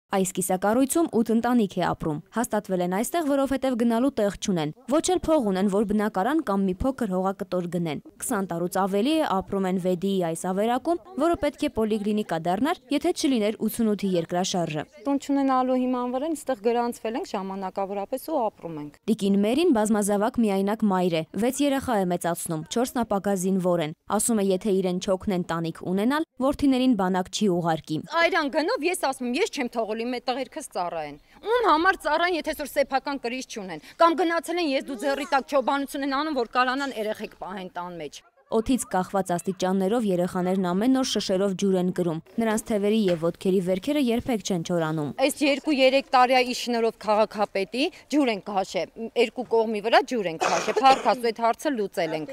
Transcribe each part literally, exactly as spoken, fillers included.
Այս կիսակառույցում ութ ընտանիք է ապրում։ Հաստատվել են այստեղ, որովհետև գնալու տեղ չունեն։ Ոչ էլ փող ունեն, որ բնակարան կամ մի փոքր հողակտոր գնեն։ քսան տարուց ավելի է ապրում են Վեդիի այս ավերակում, որը պետք է պոլիկլինիկա դառնար, եթե չլիներ ութսունութի երկրաշարժը։ Տուն չունենալու հիման վրա այստեղ գրանցվել ենք ժամանակավորապես ու ապրում ենք։ Տիկին Մերին բազմազավակ միայնակ մայր է, վեց երեխա է մեծացնում, չորսն ապագա զինվոր են։ Ասում է, եթե իրեն չօգնեն տանիք ունենալ, որդիներին բանակ չի ուղարկի։ Այրան գնով ես ասում եմ, ես չեմ թողել իմ տղերքս ծառայեն։ Ում համար ծառայեն, եթե այսօր սեփական կրիչ չունեն։ Կամ գնացել են ես դու ձեռի տակ չոբանություն են անում, որ կարանան երեխեք պահեն տան մեջ։ Օդից կախված աստիճաններով երեխաներն ամեն օր շշերով ջուր են կրում։ Նրանց թևերի եւ ոտքերի վերքերը երբեք չեն չորանում։ Այս երկու-երեք տարի շնորհով քաղաքապետի ջուր են քաշել, երկու կողմի վրա ջուր են քաշել, փառքաստու այդ հարցը լուծել ենք։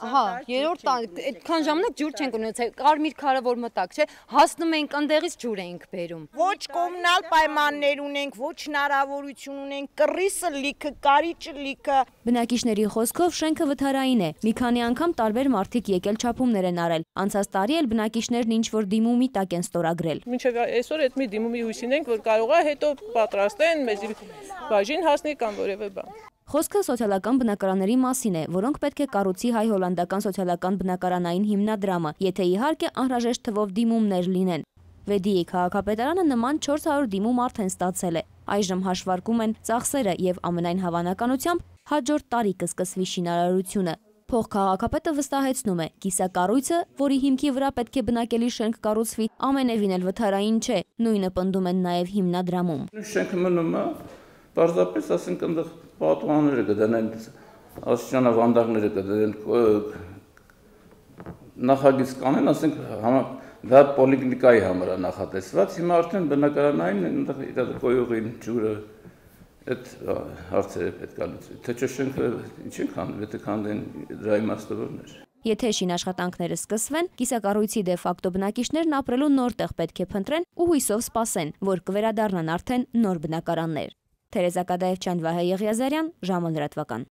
Հա, երրորդ տարին, այդքան ժամանակ ջուր չենք ունեցել, կարմիր քարը որ մտակ, չէ, հասնում ենք ընդեղից ջուր էինք բերում։ Ոչ կոմունալ պայմաններ ունենք, ոչ հնարավորություն ունենք, կռիսը լիքը, կարիճը լիքը։ Բնակիչների խոսքով շենքը վթարային է։ Մի քանի անգամ տարբեր մարդիկ եկել չափումներ են արել։ Անցած տարի էլ բնակիչներն ինչ որ դիմումի տակ են ստորագրել։ Մինչև այսօր այդ մի դիմումի հույսին ենք, որ կարող է հետո պատրաստեն, մեզ բաժին հասնի կամ որևէ բան։ Խոսքը սոցիալական բնակարանների մասին է, որոնք պետք է կառուցի հայ-հոլանդական սոցիալական բնակարանային հիմնադրամը, եթե իհարկե անհրաժեշտ թվով դիմումներ լինեն։ Վեդիի քաղաքապետարանը նման չորս հարյուր դիմում արդեն ստացել է։ Այժմ հաշվարկում են ծախսերը եւ ամենայն հավանականությամբ հաջորդ տարի կսկսվի շինարարությունը։ Փոխքաղաքապետը վստահեցնում է, կիսակառույցը, որի հիմքի վրա պետք է բնակելի շենք կառուցվի, ամենևին էլ վթարային չէ, նույնը պնդում են նաև հիմնադրամում։ Շենքը մնում է, պարզապես ասենք այնտեղ պատուհանները կդնեն, աստիճանավանդակները կդնեն, նախագիծ կանեն, ասենք դա պոլիկլինիկայի համար է նախատեսված, հիմա արդեն բնակարանային այնտեղ իր կոյուղին ջուրը այդ հարցերը պետք է լուծվի, թե չէ շենքը ինչ են քանդում, եթե քանդեն դրա իմաստը որն է։ Եթե շինաշխատանքները սկսվեն, կիսակառույցի դե ֆակտո բնակիչներն ապրելու նոր տեղ պետք է փնտրեն ու հույսով սպասեն, որ կվերադառնան արդեն նոր բնակարաններ։ Թերեզա Կադաևչյան, Վահե Եղիազարյան, ժամը լրատվական։